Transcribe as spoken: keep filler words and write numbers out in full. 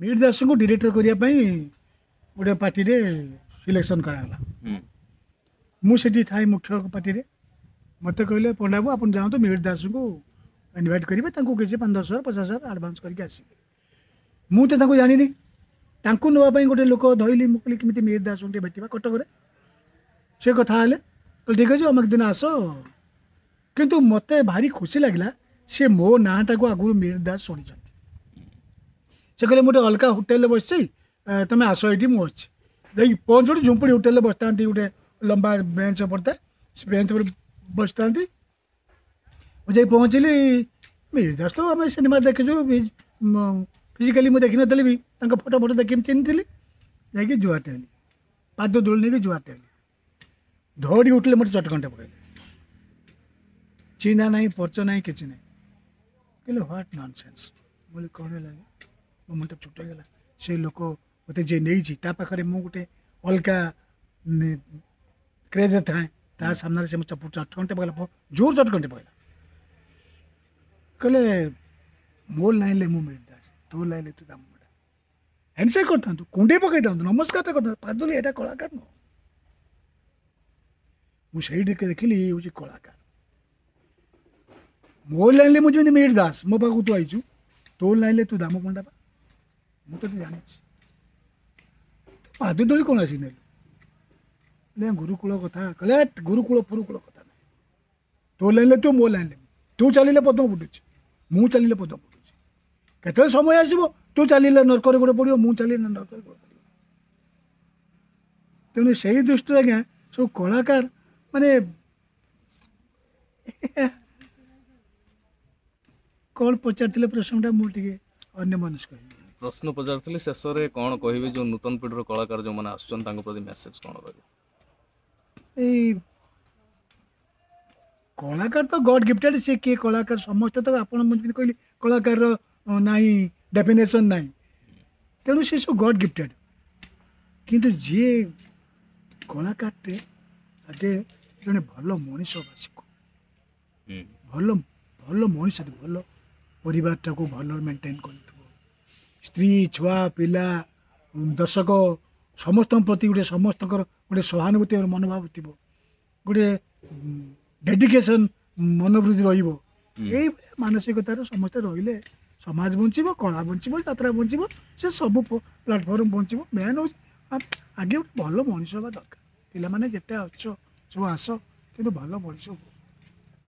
ମିହିର ଦାସଙ୍କୁ ଡିରେକ୍ଟର କରିବା ପାଇଁ ଗୋଟେ ପାର୍ଟିରେ ସିଲେକ୍ସନ୍ କରାଗଲା। ହୁଁ ମୁଁ ସେଠି ଥାଇ ମୁଖ୍ୟ ପାର୍ଟିରେ। ମୋତେ କହିଲେ, ପଣ୍ଡାବୁ, ଆପଣ ଯାଆନ୍ତୁ, ମିହିର ଦାସଙ୍କୁ ଇନଭାଇଟ୍ କରିବେ, ତାଙ୍କୁ କିଛି ପାଞ୍ଚ ଦଶ ହଜାର, ପଚାଶ ହଜାର ଆଡ଼ଭାନ୍ସ କରିକି ଆସିବେ। ମୁଁ ତ ତାଙ୍କୁ ଜାଣିନି। ତାଙ୍କୁ ନେବା ପାଇଁ ଗୋଟେ ଲୋକ ଧଇଲି। ମୁଁ କହିଲି, କେମିତି ମିହିର ଦାସଙ୍କୁ ଟିକେ ଭେଟିବା କଟକରେ। ସେ କଥା ହେଲେ, କହିଲେ, ଠିକ୍ ଅଛି, ଅମକ ଦିନ ଆସ। କିନ୍ତୁ ମୋତେ ଭାରି ଖୁସି ଲାଗିଲା, ସେ ମୋ ନାଁଟାକୁ ଆଗରୁ ମିହିର ଦାସ ଶୁଣିଛନ୍ତି। ସେ କହିଲେ, ମୁଁ ଗୋଟେ ଅଲଗା ହୋଟେଲରେ ବସିଛି, ଏ, ତମେ ଆସ, ଏଇଠି ମୁଁ ଅଛି। ଯାଇକି ପହଞ୍ଚୁଠି ଝୁମ୍ପୁଡ଼ି ହୋଟେଲରେ ବସିଥାନ୍ତି, ଗୋଟେ ଲମ୍ବା ବେଞ୍ଚ ପଡ଼ିଥାଏ, ସେ ବେଞ୍ଚ ଉପରେ ବସିଥାନ୍ତି। ମୁଁ ଯାଇ ପହଞ୍ଚିଲି। ମିହିର ଦାସ ତ ଆମେ ସିନେମା ଦେଖିଛୁ, ଫିଜିକାଲି ମୁଁ ଦେଖିନଥିଲି ବି, ତାଙ୍କ ଫଟୋ ଫଟୋ ଦେଖି ମୁଁ ଚିହ୍ନିଥିଲି। ଯାଇକି ଜୁହାରଟେ ହେଲି, ପାଦ ଧୂଳି ନେଇକି ଜୁହାରଟେ ହେଲି। ଧରି ଉଠିଲେ, ମୋତେ ଚଟକଣିଟେ ପକାଇଲେ। ଚିହ୍ନା ନାହିଁ, ପରିଚୟ ନାହିଁ, କିଛି ନାହିଁ। କହିଲେ, what nonsense! ମୁଁ କହିଲି, କ'ଣ ହେଲା? ମୋ ମୁଣ୍ଡ ଛୋଟ ହେଇଗଲା। ସେ ଲୋକ ମୋତେ ଯିଏ ନେଇଛି, ତା ପାଖରେ ମୁଁ ଗୋଟେ ଅଲଗା କ୍ରେଜ୍ ଥାଏ। ତା ସାମ୍ନାରେ ସେ ମୋ ଚଟକଣିଟେ ପକାଇଲା, ଜୋର ଚଟକଣିଟେ ପକାଇଲା। କହିଲେ, ମୋ ଲାଇନ୍ରେ ମୁଁ ମିହିର ଦାସ, ତୋ ଲାଇନ୍ରେ ତୁ ଦାମ ପଣ୍ଡା। ହ୍ୟାଣ୍ଡସେକ୍ କରିଥାନ୍ତୁ, କୁଣ୍ଡେଇ ପକାଇଥାନ୍ତୁ, ନମସ୍କାରଟା କରିଥାନ୍ତୁ, ପାଦୁଲି, ଏଇଟା କଳାକାର ନୁହଁ। ମୁଁ ସେଇଠି ଟିକେ ଦେଖିଲି, ଇଏ ହେଉଛି କଳାକାର। ମୋ ଲାଇନ୍ରେ ମୁଁ ଯେମିତି ମିହିର ଦାସ, ମୋ ପାଖକୁ ତୁ ଆଇଛୁ, ତୋ ଲାଇନ୍ରେ ତୁ ଦାମ ପଣ୍ଡା ପା। ମୁଁ ତୋତେ ଜାଣିଛି, ତୁ ପାଦ ଧୂଳି କ'ଣ ଆସି ନେଲୁ? ହେଲେ ଗୁରୁକୁଳ କଥା କହିଲେ, ଗୁରୁକୁଳ ଫୁରୁକୁଳ କଥା ନାହିଁ। ତୋ ଲାଇନ୍ରେ ତୁ, ମୋ ଲାଇନ୍ରେ ମୁଁ। ତୁ ଚାଲିଲେ ପଦ୍ମ ଫୁଟୁଛି, ମୁଁ ଚାଲିଲେ ପଦ୍ମ ଫୁଟୁଛି। କେତେବେଳେ ସମୟ ଆସିବ, ତୁ ଚାଲିଲେ ନର୍କରେ ଗୋଡ଼ ପଡ଼ିବ, ମୁଁ ଚାଲିଲେ ନର୍କରେ ଗୋଡ଼ ପଡ଼ିବ। ତେଣୁ ସେଇ ଦୃଷ୍ଟିରୁ ଆଜ୍ଞା ସବୁ କଳାକାର ମାନେ କ'ଣ ପଚାରିଥିଲେ ପ୍ରଶ୍ନଟା, ମୁଁ ଟିକେ ଅନ୍ୟମନସ୍କ ହେଇଗଲି। ପ୍ରଶ୍ନ ପଚାରିଥିଲି, ଶେଷରେ କ'ଣ କହିବେ, ଯୋଉ ନୂତନ ପିଢ଼ିର କଳାକାର ଯୋଉମାନେ ଆସୁଛନ୍ତି, ତାଙ୍କ ପ୍ରତି ମେସେଜ କ'ଣ ରହିବ? ଏଇ କଳାକାର ତ ଗଡ୍ ଗିଫ୍ଟେଡ୍। ସେ କିଏ କଳାକାର, ସମସ୍ତେ ତ ଆପଣ, ମୁଁ ଯେମିତି କହିଲି, କଳାକାରର ନାହିଁ, ଡେଫିନେସନ୍ ନାହିଁ। ତେଣୁ ସେ ସବୁ ଗଡ୍ ଗିଫ୍ଟେଡ୍। କିନ୍ତୁ ଯିଏ କଳାକାରଟେ, ଆଗେ ଜଣେ ଭଲ ମଣିଷ ହେବା ଶିଖୁ। ହୁଁ ଭଲ ଭଲ ମଣିଷ, ଭଲ ପରିବାରଟାକୁ ଭଲ ମେଣ୍ଟେନ୍ କରିଥିବ, ସ୍ତ୍ରୀ, ଛୁଆ ପିଲା, ଦର୍ଶକ ସମସ୍ତଙ୍କ ପ୍ରତି ଗୋଟେ ସମସ୍ତଙ୍କର ଗୋଟେ ସହାନୁଭୂତି ମନୋଭାବ ଥିବ, ଗୋଟେ ଡେଡିକେସନ୍ ମନୋବୃତ୍ତି ରହିବ। ହୁଁ। ଏଇ ମାନସିକତାରେ ସମସ୍ତେ ରହିଲେ ସମାଜ ବଞ୍ଚିବ, କଳା ବଞ୍ଚିବ, ଯାତ୍ରା ବଞ୍ଚିବ, ସେ ସବୁ ପ୍ଲାଟଫର୍ମ ବଞ୍ଚିବ। ମେନ୍ ହେଉଛି ଆଗେ ଗୋଟେ ଭଲ ମଣିଷ ହେବା ଦରକାର। ପିଲାମାନେ ଯେତେ ଆସୁଛ ସବୁ ଆସ, କିନ୍ତୁ ଭଲ ମଣିଷ ହୁଅ।